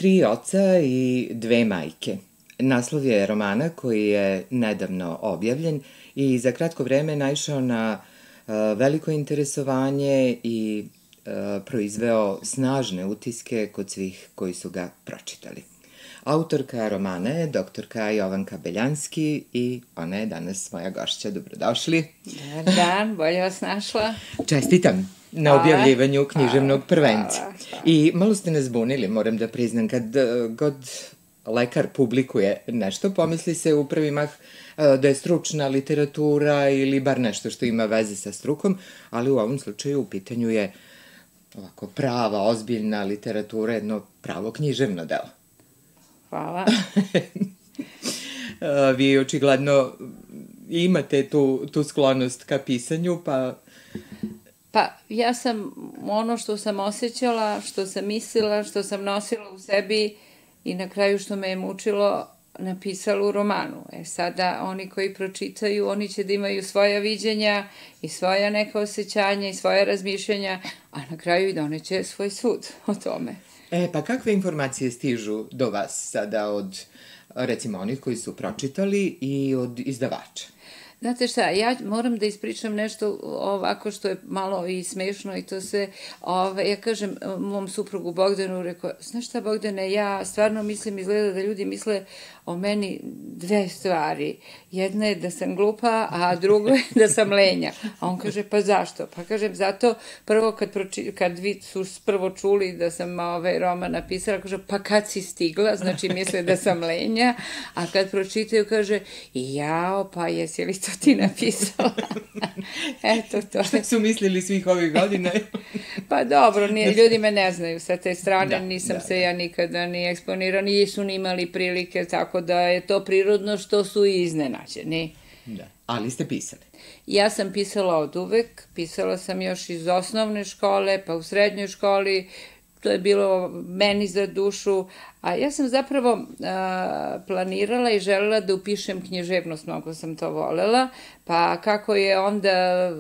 Tri oca i dve majke. Naslov je romana koji je nedavno objavljen i za kratko vreme naišao na veliko interesovanje i proizveo snažne utiske kod svih koji su ga pročitali. Autorka romana je doktorka Jovanka Beljanski i ona je danas moja gošća. Dobrodošli. Dobar dan, bolje vas našla. Čestitam na objavljivanju književnog prvenca. I malo ste nas zbunili, moram da priznam, kad god lekar publikuje nešto, pomisli se u prvi mah da je stručna literatura ili bar nešto što ima veze sa strukom, ali u ovom slučaju u pitanju je ovako prava, ozbiljna literatura, jedno pravo književno delo. Hvala. Vi očigledno imate tu sklonost ka pisanju, pa... Pa, ja sam ono što sam osjećala, što sam mislila, što sam nosila u sebi i na kraju što me je mučilo, napisala u romanu. Sada oni koji pročitaju, oni će da imaju svoja viđenja i svoja neka osjećanja i svoja razmišljanja, a na kraju i doneće svoj sud o tome. Pa kakve informacije stižu do vas sada od, recimo, onih koji su pročitali i od izdavača? Znate šta, ja moram da ispričam nešto ovako što je malo i smešno i to se, ja kažem mom suprugu Bogdanu, rekao, znaš šta Bogdane, ja stvarno mislim, izgleda da ljudi misle o meni dve stvari. Jedna je da sam glupa, a drugo je da sam lenja. A on kaže, pa zašto? Pa kažem, zato prvo kad vi su prvo čuli da sam roman napisala, kaže, pa kad si stigla, znači misle da sam lenja, a kad pročitaju, kaže, jao, pa jesi li to ti napisala? Eto to. Šta su mislili svih ovih godina? Pa dobro, ljudi me ne znaju sa te strane, nisam se ja nikada ni eksponirala, nisu ni imali prilike, tako da je to prirodno što su i iznenađeni. Da, ali ste pisali. Ja sam pisala od uvek, pisala sam još iz osnovne škole, pa u srednjoj školi, to je bilo meni za dušu, a ja sam zapravo planirala i želela da upišem književnost, mnogo sam to volela, pa kako je onda,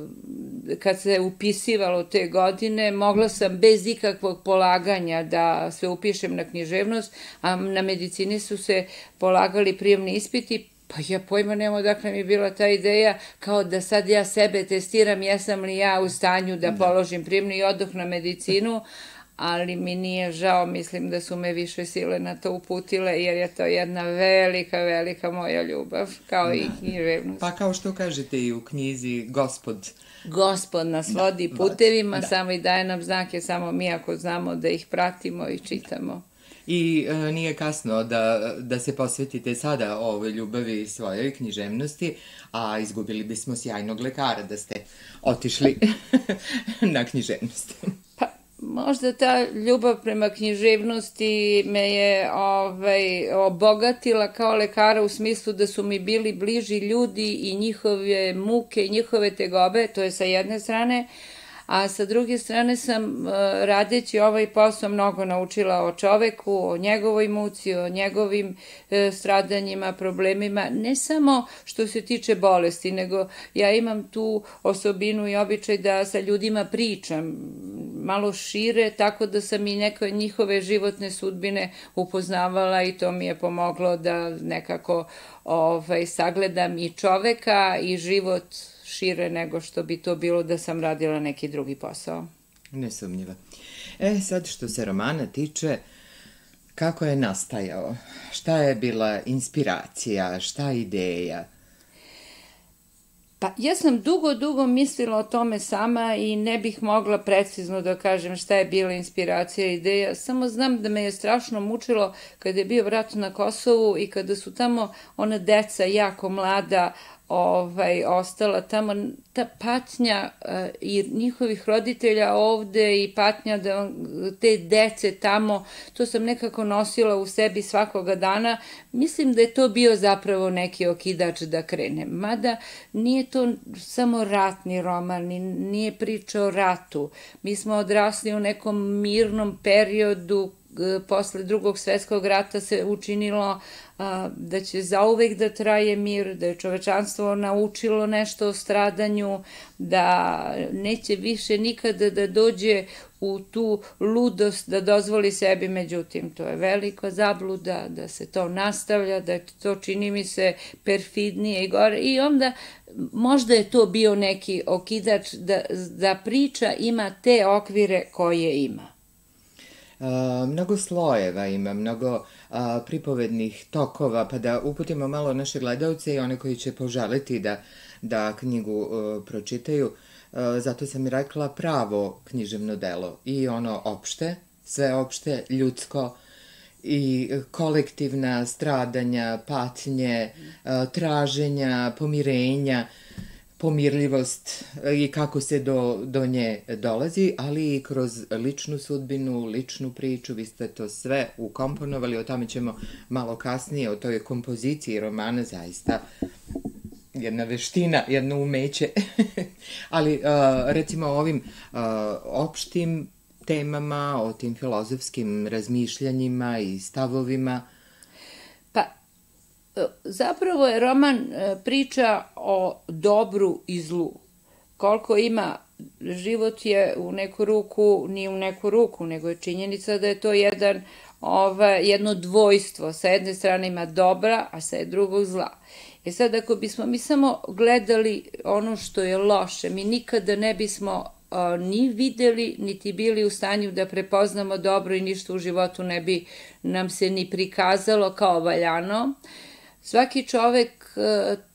kad se upisivalo te godine, mogla sam bez ikakvog polaganja da se upišem na književnost, a na medicini su se polagali prijemni ispiti, pa ja pojma nemam odakle mi je bila ta ideja, kao da sad ja sebe testiram, jesam li ja u stanju da položim prijemni i odoh na medicinu, ali mi nije žao, mislim da su me više sile na to uputile, jer je to jedna velika, velika moja ljubav, kao i književnost. Pa kao što kažete i u knjizi, Gospod nas vodi putevima, samo i daje nam znake, samo mi ako znamo da ih pratimo i čitamo. I nije kasno da se posvetite sada ovoj ljubavi svojoj književnosti, a izgubili bismo sjajnog lekara da ste otišli na književnost. Pa, možda ta ljubav prema književnosti me je obogatila kao lekara u smislu da su mi bili bliži ljudi i njihove muke i njihove tegobe, to je sa jedne strane, a sa druge strane sam, radeći ovaj posao, mnogo naučila o čoveku, o njegovoj muci, o njegovim stradanjima, problemima, ne samo što se tiče bolesti, nego ja imam tu osobinu i običaj da sa ljudima pričam malo šire, tako da sam i neke njihove životne sudbine upoznavala i to mi je pomoglo da nekako sagledam i čoveka i život šire nego što bi to bilo da sam radila neki drugi posao. Nesumnjivo. Sad što se romana tiče, kako je nastajao? Šta je bila inspiracija? Šta je ideja? Pa ja sam dugo mislila o tome sama i ne bih mogla precizno da kažem šta je bila inspiracija i ideja. Samo znam da me je strašno mučilo kada je bio rat na Kosovu i kada su tamo ona deca jako mlada ostala tamo, ta patnja i njihovih roditelja ovde i patnja te dece tamo, to sam nekako nosila u sebi svakoga dana. Mislim da je to bio zapravo neki okidač da krenem. Mada nije to samo ratni roman, nije priča o ratu. Mi smo odrasli u nekom mirnom periodu, posle Drugog svetskog rata se učinilo da će zauvek da traje mir, da je čovečanstvo naučilo nešto o stradanju, da neće više nikada da dođe u tu ludost da dozvoli sebi, međutim, to je velika zabluda, da se to nastavlja, da to čini mi se perfidnije i gore i onda možda je to bio neki okidač da priča ima te okvire koje ima. Mnogo slojeva ima, mnogo pripovednih tokova, pa da uputimo malo naše gledalce i one koji će poželiti da knjigu pročitaju. Zato sam i rekla pravo književno delo i ono opšte, sveopšte, ljudsko i kolektivna stradanja, patnje, traženja, pomirenja, pomirljivost i kako se do nje dolazi, ali i kroz ličnu sudbinu, ličnu priču, vi ste to sve ukomponovali, o tome ćemo malo kasnije, o toj kompoziciji romana, zaista jedna veština, jedno umeće, ali recimo o ovim opštim temama, o tim filozofskim razmišljanjima i stavovima. Pa, zapravo je roman priča o dobru i zlu. Koliko ima, život je u neku ruku, nije u neku ruku, nego je činjenica da je to jedno dvojstvo. Sa jedne strane ima dobra, a sa drugog zla. Sad, ako bismo mi samo gledali ono što je loše, mi nikada ne bismo ni videli, niti bili u stanju da prepoznamo dobro i ništa u životu ne bi nam se ni prikazalo kao valjano. Svaki čovek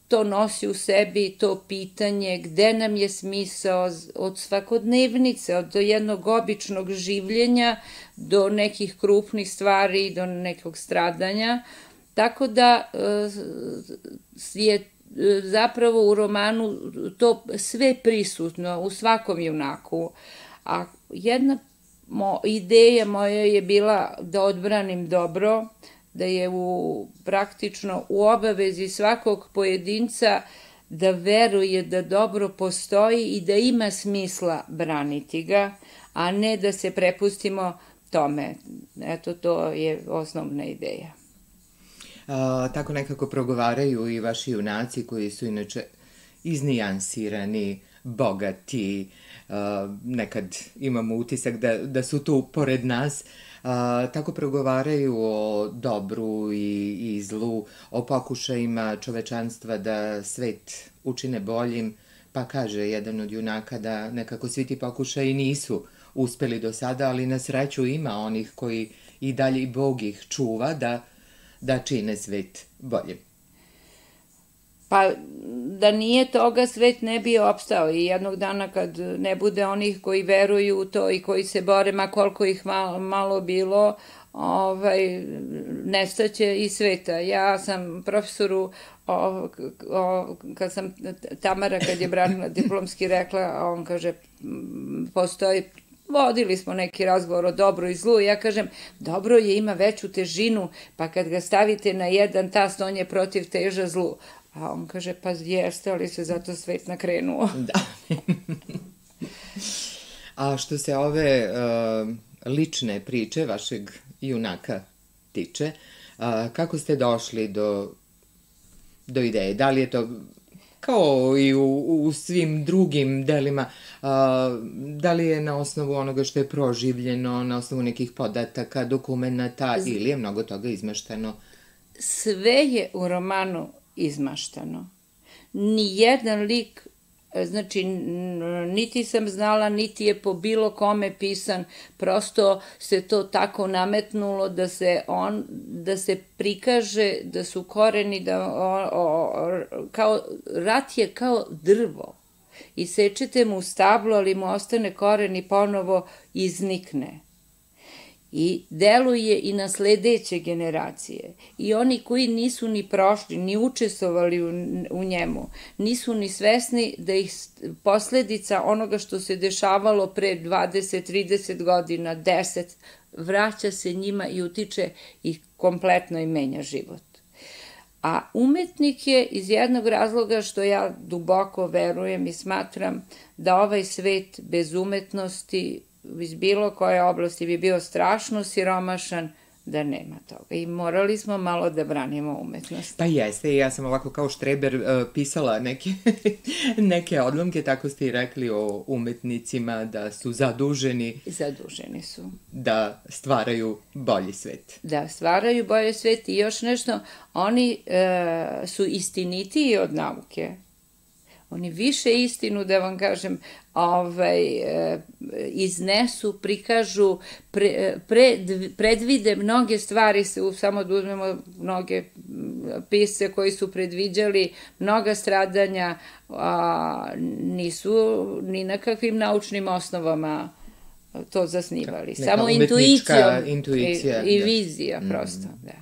to nosi u sebi, to pitanje gde nam je smisao od svakodnevnice, od jednog običnog življenja do nekih krupnih stvari, do nekog stradanja. Tako da je zapravo u romanu to sve prisutno u svakom junaku. A jedna ideja moja je bila da odbranim dobro, da je praktično u obavezi svakog pojedinca da veruje da dobro postoji i da ima smisla braniti ga, a ne da se prepustimo tome. Eto, to je osnovna ideja. Tako nekako progovaraju i vaši junaci koji su inače iznijansirani, bogati, nekad imamo utisak da su tu pored nas, tako progovaraju o dobru i zlu, o pokušajima čovečanstva da svet učine boljim, pa kaže jedan od junaka da nekako svi ti pokušaji nisu uspeli do sada, ali na sreću ima onih koji i dalje i Bog ih čuva da čine svet boljim. Pa da nije toga, svet ne bi opstao i jednog dana kad ne bude onih koji veruju u to i koji se bore, ma koliko ih malo bilo, nestaće i sveta. Ja sam profesoru, Tamara kad je branila diplomski rekla, on kaže, vodili smo neki razgovor o dobru i zlu i ja kažem, dobro ima veću težinu, pa kad ga stavite na jedan tast, on je protiv teža zlu. A on kaže, pa jeste, ali se zato svet nakrenuo. Da. A što se ove lične priče vašeg junaka tiče, kako ste došli do ideje? Da li je to kao i u svim drugim delima, da li je na osnovu onoga što je proživljeno, na osnovu nekih podataka, dokumenata ili je mnogo toga izmešteno? Sve je u romanu izmaštano. Nijedan lik, znači, niti sam znala, niti je po bilo kome pisan, prosto se to tako nametnulo da se prikaže da su koreni, rat je kao drvo. Isečete mu stablo, ali mu ostane koren i ponovo iznikne. I deluje i na sledeće generacije. I oni koji nisu ni prošli, ni učestvovali u njemu, nisu ni svesni da ih posledica onoga što se dešavalo pre 20-30 godina, 10, vraća se njima i utiče i kompletno im menja život. A umetnik je iz jednog razloga što ja duboko verujem i smatram da ovaj svet bez umetnosti iz bilo koje oblasti bi bio strašno siromašan, da nema toga. I morali smo malo da branimo umetnost. Pa jeste, ja sam ovako kao štreber pisala neke odlomke, tako ste i rekli o umetnicima da su zaduženi. Zaduženi su. Da stvaraju bolji svet. Da stvaraju bolji svet i još nešto, oni su istinitiji od nauke. Oni više istinu, da vam kažem, iznesu, prikažu, predvide mnoge stvari, samo da uzmemo mnoge pisce koji su predviđali mnoga stradanja, nisu ni na kakvim naučnim osnovama to zasnivali. Samo intuicija i vizija prosto, da.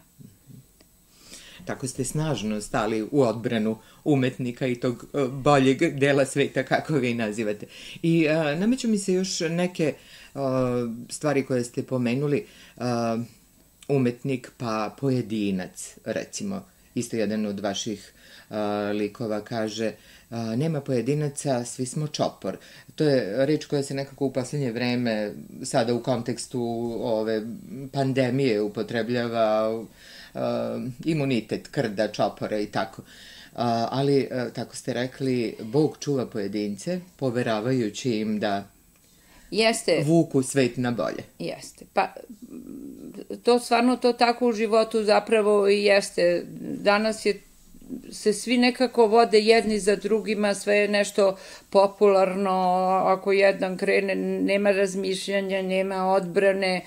Tako ste snažno stali u odbranu umetnika i tog boljeg dela sveta, kako vi nazivate. I nameću mi se još neke stvari koje ste pomenuli. Umetnik pa pojedinac, recimo. Isto jedan od vaših likova kaže nema pojedinaca, svi smo čopor. To je reč koja se nekako u poslednje vreme, sada u kontekstu ove pandemije upotrebljava, imunitet, krda, čopora i tako. Ali, tako ste rekli, Bog čuva pojedince, poveravajući im da vuku svet na bolje. Jeste. Pa, to stvarno to tako u životu zapravo i jeste. Danas se svi nekako vode jedni za drugima, sve je nešto popularno, ako jedan krene, nema razmišljanja, nema odbrane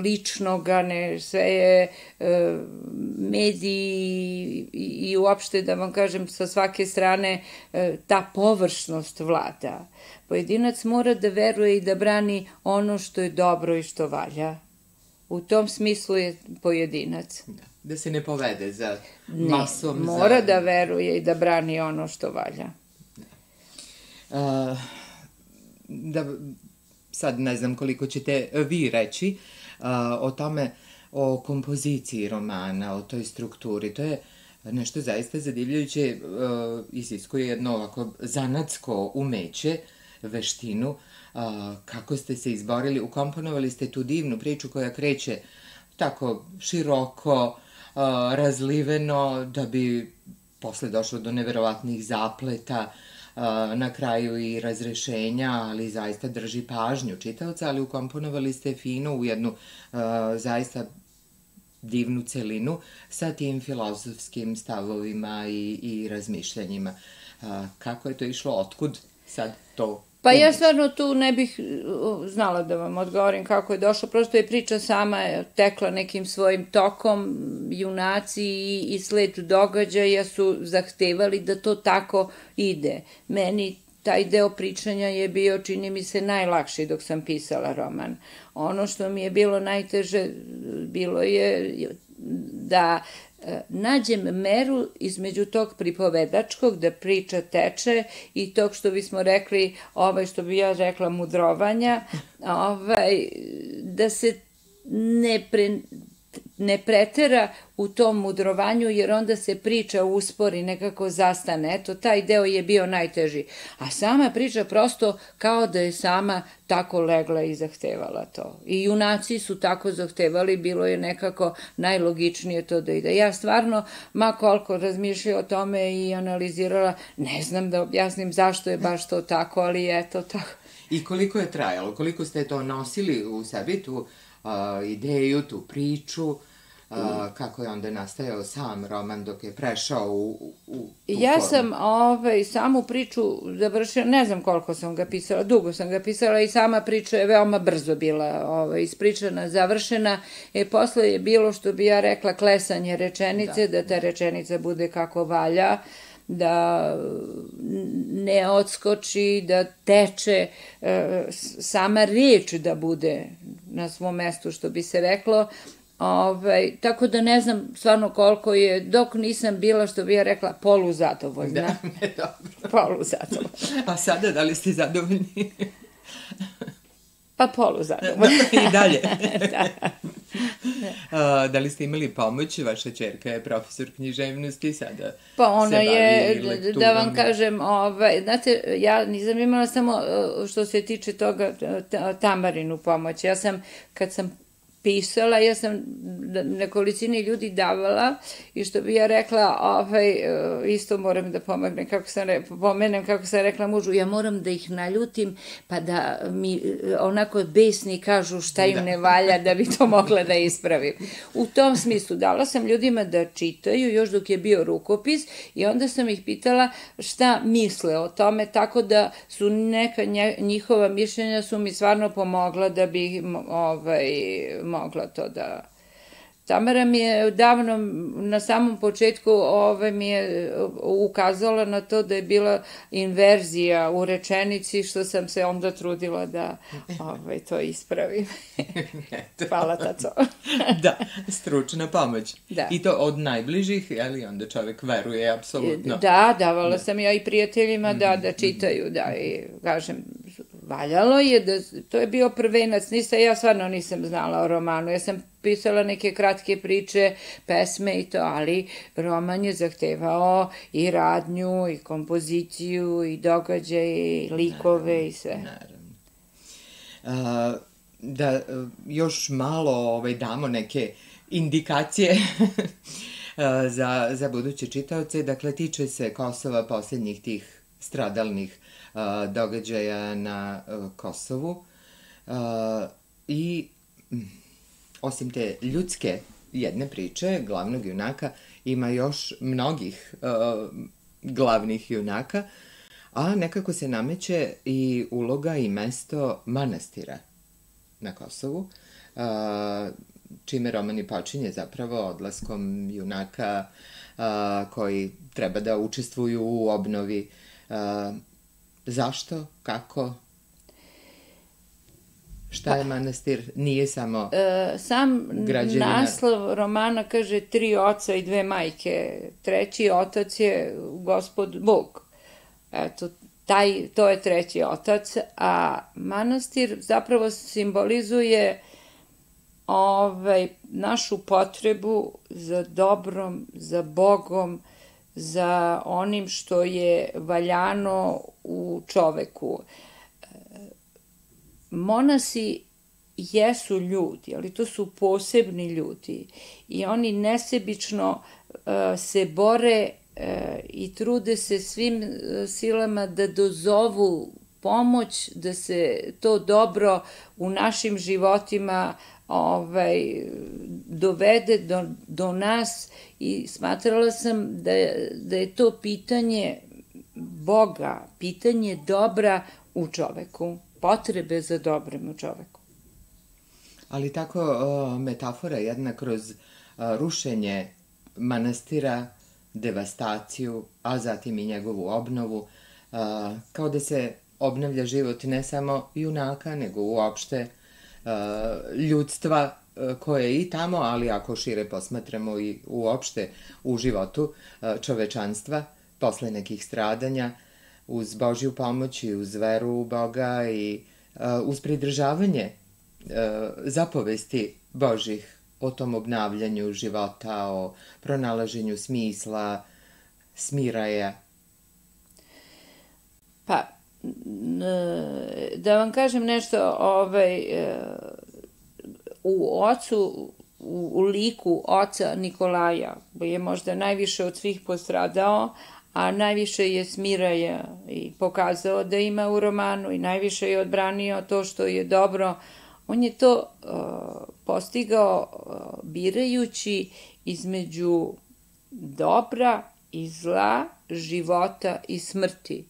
ličnoga, sve je mediji i uopšte, da vam kažem, sa svake strane ta površnost vlada. Pojedinac mora da veruje i da brani ono što je dobro i što valja. U tom smislu je pojedinac. Da se ne povede za masom. Ne, mora da veruje i da brani ono što valja. Sad ne znam koliko ćete vi reći o tome, o kompoziciji romana, o toj strukturi. To je nešto zaista zadivljujuće, iziskuje jedno ovako zanatsko umeće, veštinu. Kako ste se izborili, ukomponovali ste tu divnu priču koja kreće tako široko, razliveno, da bi posle došlo do neverovatnih zapleta, na kraju i razrešenja, ali zaista drži pažnju čitaoca, ali ukomponovali ste fino u jednu zaista divnu celinu sa tim filozofskim stavovima i razmišljanjima. Kako je to išlo? Otkud sad to? Pa ja stvarno tu ne bih znala da vam odgovorim kako je došlo, prosto je priča sama tekla nekim svojim tokom, junaci i sled događaja su zahtevali da to tako ide. Meni taj deo pričanja je bio, čini mi se, najlakši dok sam pisala roman. Ono što mi je bilo najteže bilo je da nađem meru između tog pripovedačkog, da priča teče, i tog što bismo rekli, što bi ja rekla, mudrovanja, da se ne pretera u tom mudrovanju, jer onda se priča uspori, nekako zastane. Eto, taj deo je bio najteži. A sama priča prosto kao da je sama tako legla i zahtevala to. I junaci su tako zahtevali, bilo je nekako najlogičnije to da ide. Ja stvarno, ma koliko razmišljala o tome i analizirala, ne znam da objasnim zašto je baš to tako, ali eto tako. I koliko je trajalo? Koliko ste to nosili u sebi, tu ideju, tu priču, kako je onda nastajao sam roman dok je prešao u tu formu? Ja sam samu priču završila, ne znam koliko sam ga pisala, dugo sam ga pisala i sama priča je veoma brzo bila ispričana, završena. Posle je bilo, što bi ja rekla, klesanje rečenice, da ta rečenica bude kako valja, da ne odskoči, da teče, sama reč da bude na svom mestu, što bi se reklo. Tako da ne znam stvarno koliko je, dok nisam bila, što bi ja rekla, poluzadovoljna. Da, dobro. Poluzadovoljna. A sada, da li ste zadovoljni? Pa poluzadovoljna. I dalje. Da li ste imali pomoć? Vaša ćerka je profesor književnosti, sada pa ona je, da vam kažem, znate, ja nisam imala samo što se tiče toga Tamarinu pomoć. Ja sam, kad sam pisala, ja sam nekolicini ljudi davala i što bi ja rekla, isto moram da pomenem kako sam rekla mužu, ja moram da ih naljutim pa da mi onako besni kažu šta im ne valja da bi to mogla da ispravim. U tom smislu dala sam ljudima da čitaju još dok je bio rukopis i onda sam ih pitala šta misle o tome, tako da su neka njihova mišljenja su mi stvarno pomogla da bi mogla to da... Tamara mi je davno, na samom početku, mi je ukazala na to da je bila inverzija u rečenici, što sam se onda trudila da to ispravim. Hvala, taco. Da, stručna pomoć. I to od najbližih, ali onda čovek veruje, apsolutno. Da, davala sam ja i prijateljima da čitaju, da, i kažem, valjalo je, to je bio prvenac, ja stvarno nisam znala o romanu, ja sam pisala neke kratke priče, pesme i to, ali roman je zahtevao i radnju, i kompoziciju, i događaje, i likove, i sve. Naravno. Da još malo damo neke indikacije za buduće čitaoce, dakle, tiče se Kosova, posljednjih tih stradalnih događaja na Kosovu i osim te ljudske jedne priče, glavnog junaka, ima još mnogih glavnih junaka, a nekako se nameće i uloga i mesto manastira na Kosovu, čime roman i počinje zapravo odlaskom junaka koji treba da učestvuju u obnovi. Zašto? Kako? Šta je manastir? Nije samo građevina. Sam naslov romana kaže 3 oca i 2 majke. 3. otac je Gospod Bog. Eto, to je 3. otac, a manastir zapravo simbolizuje našu potrebu za dobrom, za Bogom, za onim što je valjano u čoveku. Monasi jesu ljudi, ali to su posebni ljudi i oni nesebično se bore i trude se svim silama da dozovu pomoć, da se to dobro u našim životima dovede do nas i smatrala sam da je to pitanje Boga, pitanje dobra u čoveku, potrebe za dobrim u čoveku. Ali tako metafora jedna kroz rušenje manastira, devastaciju, a zatim i njegovu obnovu, kao da se obnavlja život ne samo junaka, nego uopšte ljudstva koje je i tamo, ali ako šire posmatramo i uopšte u životu čovečanstva, posle nekih stradanja, uz Božju pomoć i uz veru u Boga i uz pridržavanje zapovesti Božih o tom obnavljanju života, o pronalaženju smisla, smiraja. Pa, da vam kažem nešto, u liku oca Nikolaja, koji je možda najviše od svih postradao, a najviše je smiraja i pokazao da ima u romanu i najviše je odbranio to što je dobro. On je to postigao birajući između dobra i zla, života i smrti.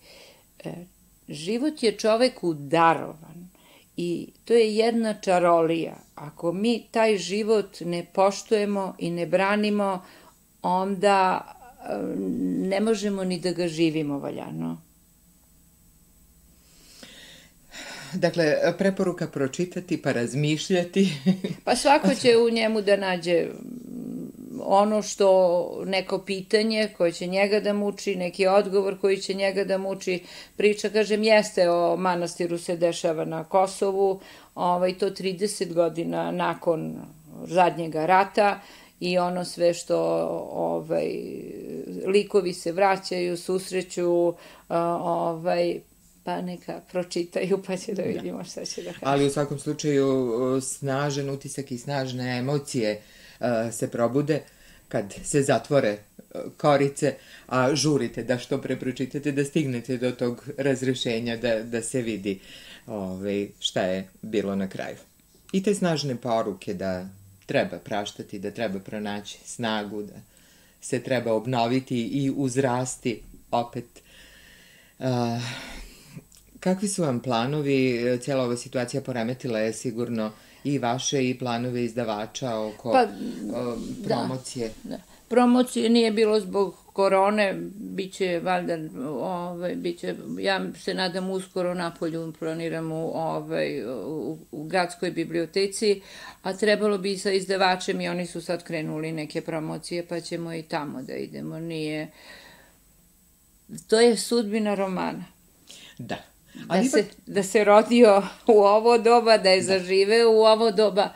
Život je čoveku darovan i to je jedna čarolija. Ako mi taj život ne poštujemo i ne branimo, onda ne možemo ni da ga živimo valjano. Dakle, preporuka pročitati pa razmišljati. Pa svako će u njemu da nađe ono što, neko pitanje koje će njega da muči, neki odgovor koji će njega da muči. Priča, kažem, jeste o manastiru se dešava na Kosovu, to 30 godina nakon zadnjega rata i ono sve što likovi se vraćaju, susreću, Pa neka pročitaju pa će da vidimo šta će da kažu. Ali u svakom slučaju snažan utisak i snažne emocije se probude kad se zatvore korice, a žurite da što pre pročitate, da stignete do tog razrešenja, da se vidi šta je bilo na kraju. I te snažne poruke da treba praštati, da treba pronaći snagu, da se treba obnoviti i uzrasti opet. Kakvi su vam planovi? Cijela ova situacija poremetila je sigurno i vaše i planove izdavača oko promocije. Da. Promocije nije bilo zbog korone, biće valjda, ja se nadam uskoro napolju, planiram u gradskoj biblioteci, a trebalo bi sa izdavačem i oni su sad krenuli neke promocije, pa ćemo i tamo da idemo. To je sudbina romana. Da. Da se rodio u ovo doba, da je zaživeo u ovo doba,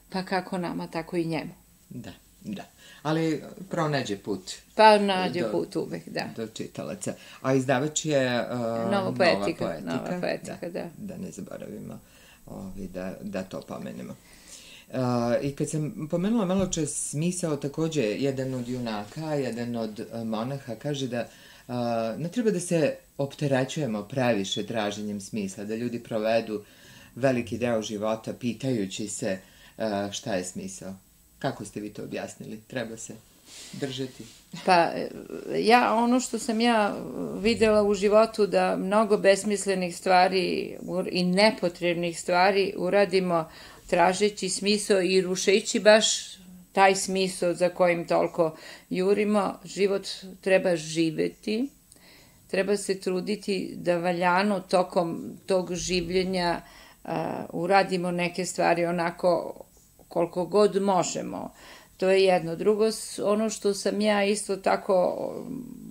pa kako nama, tako i njemu. Da. Ali pronađe put. Pa nađe put uvek, da. Do čitalaca. A izdavač je Nova poetika, da. Da ne zaboravimo da to pomenemo. I kad sam pomenula malo čas smisao, takođe, jedan od junaka, jedan od monaha kaže da ne treba da se opterećujemo previše traženjem smisla, da ljudi provedu veliki deo života pitajući se šta je smisao. Kako ste vi to objasnili? Treba se držati? Pa, ono što sam ja videla u životu, da mnogo besmislenih stvari i nepotrebnih stvari uradimo tražeći smisao i rušeći baš taj smisao za kojim toliko jurimo. Život treba živeti, treba se truditi da valjano tokom tog življenja uradimo neke stvari onako koliko god možemo. To je jedno. Drugo, ono što sam ja isto tako,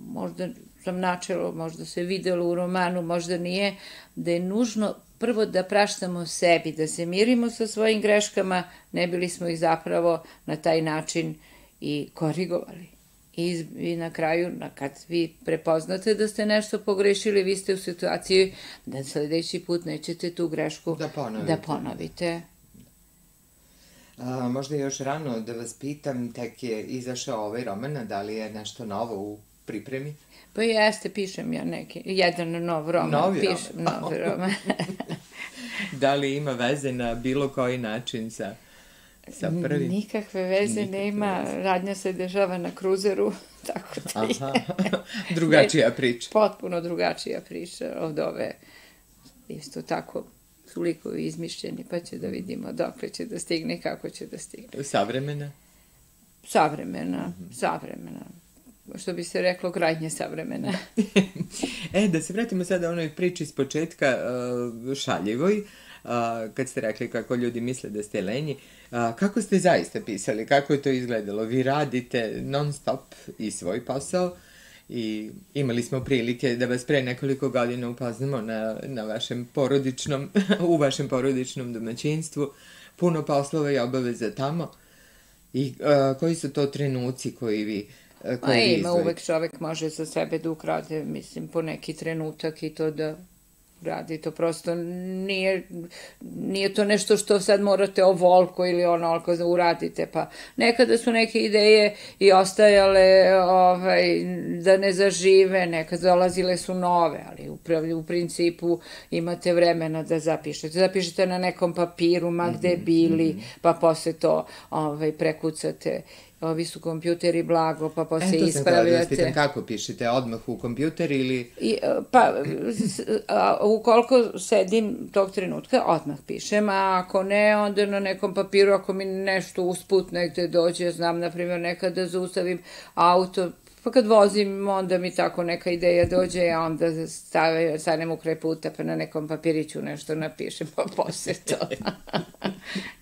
možda sam načelo, možda se videlo u romanu, možda nije, da je nužno prvo da praštamo sebi, da se mirimo sa svojim greškama, ne bili smo ih zapravo na taj način i korigovali. I na kraju, kad vi prepoznate da ste nešto pogrešili, vi ste u situaciji da sledeći put nećete tu grešku da ponovite. Možda je još rano da vas pitam, tek je izašao ovaj roman, da li je nešto novo u pripremi? Pa jeste, pišem ja jedan nov roman. Novi roman? Da li ima veze na bilo koji način sa prvim? Nikakve veze nema, radnja se dešava na kruzeru, tako da je. Drugačija priča. Potpuno drugačija priča od ove, isto tako, su likovi izmišljeni, pa će da vidimo dokle će da stigne i kako će da stigne. Savremena? Savremena. Što bi se reklo, krajnje savremena. Da se vratimo sada onoj priči s početka, šaljivoj, kad ste rekli kako ljudi misle da ste lenji. Kako ste zaista pisali? Kako je to izgledalo? Vi radite non stop i svoj posao i imali smo prilike da vas pre nekoliko godina upoznamo u vašem porodičnom domaćinstvu. Puno poslova i obaveza tamo. I koji su to trenuci koji vi ima, uvek čovek može za sebe da ukrade, mislim, po neki trenutak i to da radi. To prosto nije to nešto što sad morate ovoliko ili onoliko da uradite, pa nekada su neke ideje i ostajale da ne zažive, nekad dolazile su nove, ali u principu imate vremena da zapišete. Zapišete na nekom papiru, ma gde bili, pa posle to prekucate. Ovi su kompjuteri blago, pa posle ispravljate. Da spitam kako pišete, odmah u kompjuter ili... Pa, ukoliko sedim tog trenutka, odmah pišem, a ako ne, onda na nekom papiru, ako mi nešto usput negde dođe, znam, na primjer, nekad da zaustavim auto, pa kad vozim, onda mi tako neka ideja dođe, a onda stanem u kraj puta, pa na nekom papiriću nešto napišem, pa posle to.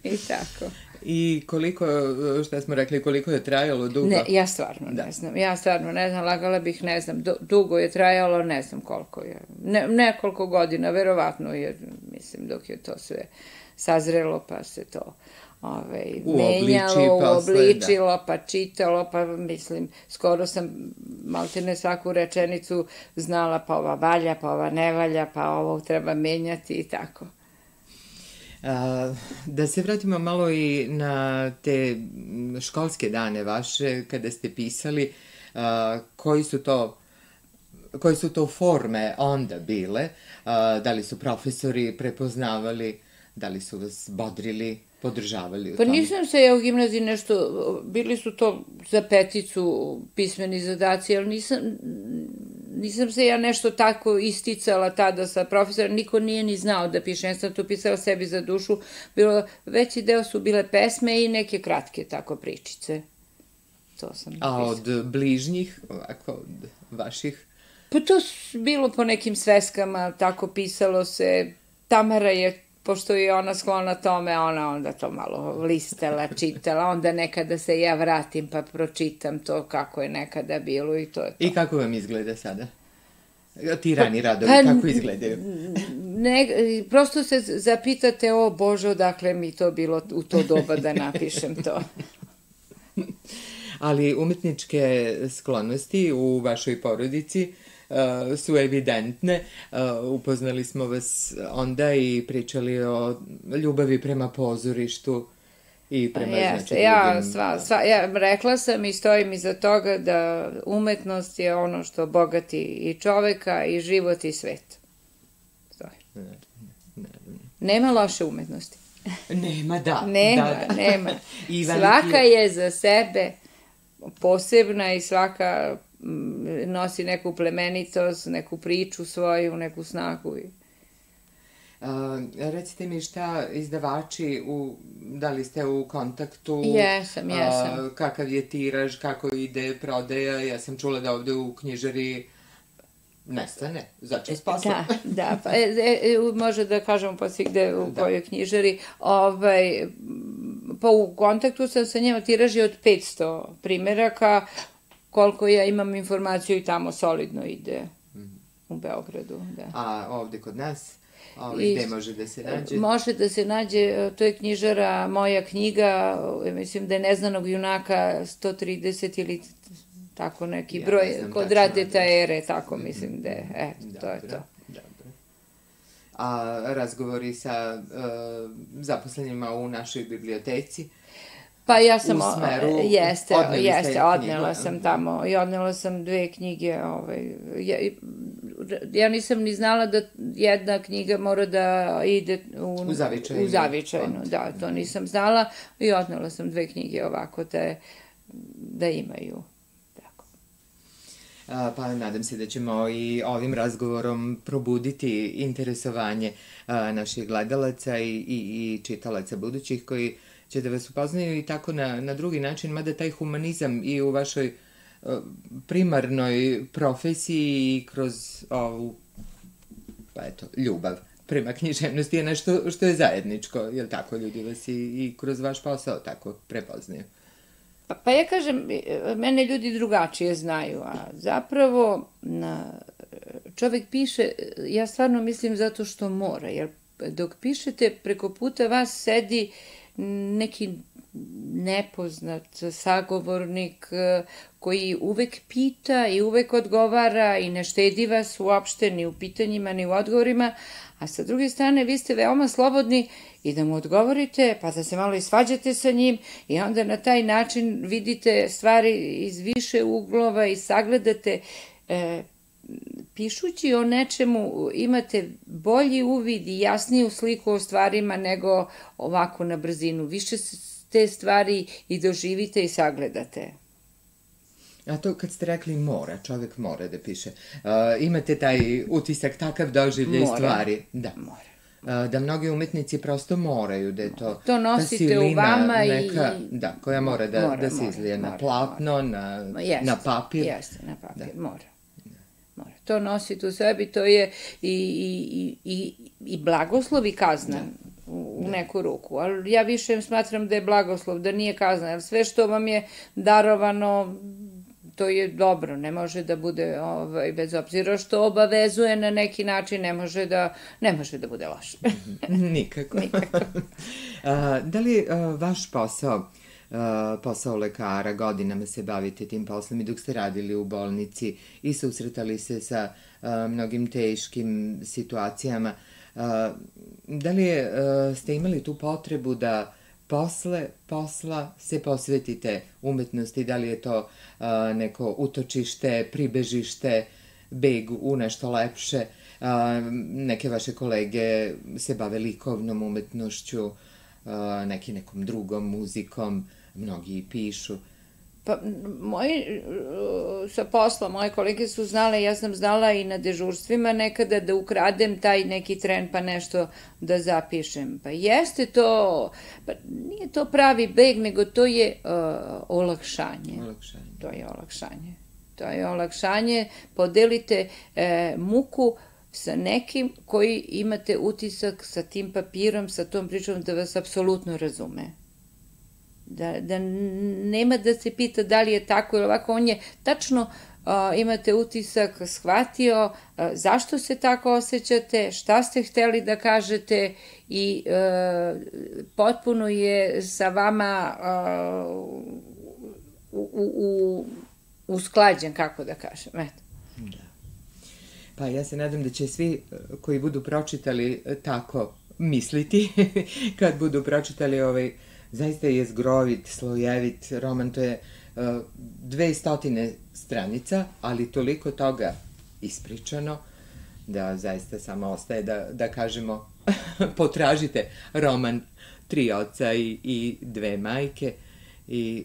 I tako. I koliko, šta smo rekli, koliko je trajalo dugo? Ne, ja stvarno ne znam, lagala bih, ne znam, dugo je trajalo, ne znam koliko je, nekoliko godina, verovatno je, mislim, dok je to sve sazrelo, pa se to, menjalo, uobličilo, pa čitalo, pa mislim, skoro sam maltene svaku rečenicu znala, pa ova valja, pa ova ne valja, pa ovo treba menjati i tako. Da se vratimo malo i na te školske dane vaše, kada ste pisali, koje su to forme onda bile, da li su profesori prepoznavali, da li su vas bodrili, podržavali u Pa tom? nisam se ja u gimnaziji nešto, bili su to za peticu pismeni zadaci, ali nisam se ja nešto tako isticala tada sa profesorom, niko nije ni znao da piše, ja sam to pisala sebi za dušu, veći deo su bile pesme i neke kratke tako pričice. To sam pisala. A od bližnjih, ovako, od vaših? Pa to bilo po nekim sveskama, tako pisalo se. Tamara je, pošto je ona sklona tome, ona onda to malo listala, čitala, onda nekada se ja vratim pa pročitam to kako je nekada bilo i to je to. I kako vam izgleda sada? Ti rani radovi, kako izgledaju? Prosto se zapitate, o Bože, odakle mi to bilo u to doba da napišem to. Ali umetničke sklonosti u vašoj porodici su evidentne. Upoznali smo vas onda i pričali o ljubavi prema pozorištu i prema drugim. Ja rekla sam i stojim iza toga da umetnost je ono što bogati i čoveka i život i svet. Nema loše umetnosti. Nema, da. Nema. Svaka je za sebe posebna i svaka nosi neku plemenitost, neku priču svoju, neku snagu. Recite mi šta izdavači, da li ste u kontaktu? Jesam. Kakav je tiraž, kako ide prodaja? Ja sam čula da ovde u knjižari nestane, začas posla. Da, pa može da kažemo pa svigde u kojoj knjižari. Pa u kontaktu sam sa njima, tiraž je od 500 primeraka, koliko ja imam informaciju i tamo solidno ide u Beogradu. A ovde kod nas? Gde može da se nađe? Može da se nađe, to je knjižara Moja knjiga, mislim da je Neznanog junaka 130 ili tako neki broj, kod Radeta Ere, tako mislim da je, to je to. A razgovori sa zaposlenima u našoj biblioteci? Pa ja sam, u smeru, odnela sam tamo i odnela sam 2 knjige. Ja nisam ni znala da jedna knjiga mora da ide u zavičajnu. Da, to nisam znala i odnela sam 2 knjige ovako da imaju. Pa nadam se da ćemo i ovim razgovorom probuditi interesovanje naših gledalaca i čitalaca budućih koji će da vas upoznaju i tako na drugi način, mada taj humanizam i u vašoj primarnoj profesiji i kroz ovu, pa eto, ljubav prema književnosti je nešto što je zajedničko, jer tako ljudi vas i kroz vaš posao tako prepoznaju. Pa ja kažem, mene ljudi drugačije znaju, a zapravo čovek piše, ja stvarno mislim zato što mora, jer dok pišete preko puta vas sedi neki nepoznat sagovornik koji uvek pita i uvek odgovara i ne štedi vas uopšte ni u pitanjima ni u odgovorima, a sa druge strane vi ste veoma slobodni i da mu odgovorite, pa da se malo i svađate sa njim i onda na taj način vidite stvari iz više uglova i sagledate. Pišući o nečemu imate bolji uvid i jasniju sliku o stvarima nego ovako na brzinu. Više te stvari i doživite i sagledate. A to kad ste rekli mora, čovjek mora da piše, imate taj utisak, takav doživljaj stvari? Da, mora. Da mnogi umetnici prosto moraju, da je to nosite u vama neka, da, koja mora da se izlije na platno, na papir. Jeste, na papir, mora. To nosite u sebi, to je i blagoslov i kazna u neku ruku, ali ja više smatram da je blagoslov, da nije kazna, jer sve što vam je darovano, to je dobro, ne može da bude, bez obzira što obavezuje na neki način, ne može da bude loše. Nikako. Da li vaš posao lekara, godinama se bavite tim poslom i dok ste radili u bolnici i susretali se sa mnogim teškim situacijama, da li ste imali tu potrebu da posle posla se posvetite umetnosti, da li je to neko utočište, pribežište, beg u nešto lepše? Neke vaše kolege se bave likovnom umetnošću, neki nekom drugom muzikom, mnogi pišu. Pa, sa posla, moje kolege su znale, ja sam znala i na dežurstvima nekada da ukradem taj neki tren pa nešto da zapišem. Pa jeste to, pa nije to pravi beg, nego to je olakšanje. To je olakšanje. To je olakšanje, podelite muku sa nekim koji imate utisak sa tim papirom, sa tom pričom da vas apsolutno razume. Da nema da se pita da li je tako ili ovako, on je tačno, imate utisak, shvatio zašto se tako osjećate, šta ste hteli da kažete i potpuno je sa vama usklađen, kako da kažem, eto. Da. Pa ja se nadam da će svi koji budu pročitali tako misliti, kad budu pročitali ovaj zaista je zgrovit, slojevit roman, to je 200 stranica, ali toliko toga ispričano, da zaista samo ostaje da kažemo, potražite roman Tri oca i dve majke i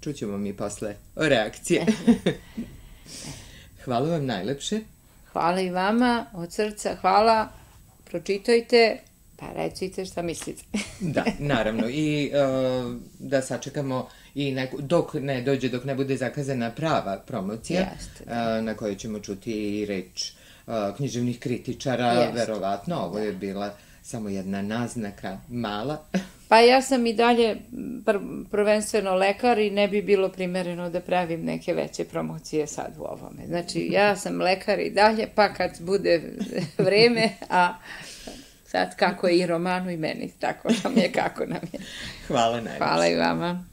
čućemo mi posle reakcije. Hvala vam najlepše. Hvala i vama, od srca hvala, pročitajte, pa recite šta mislite. Da, naravno. I da sačekamo i dok ne dođe, dok ne bude zakazana prava promocija, na kojoj ćemo čuti i reč književnih kritičara, verovatno. Ovo je bila samo jedna naznaka, mala. Pa ja sam i dalje prvenstveno lekar i ne bi bilo primereno da pravim neke veće promocije sad u ovome. Znači, ja sam lekar i dalje, pa kad bude vreme, a sad kako je i romanu i meni, tako nam je kako nam je. Hvala najviše. Hvala i vama.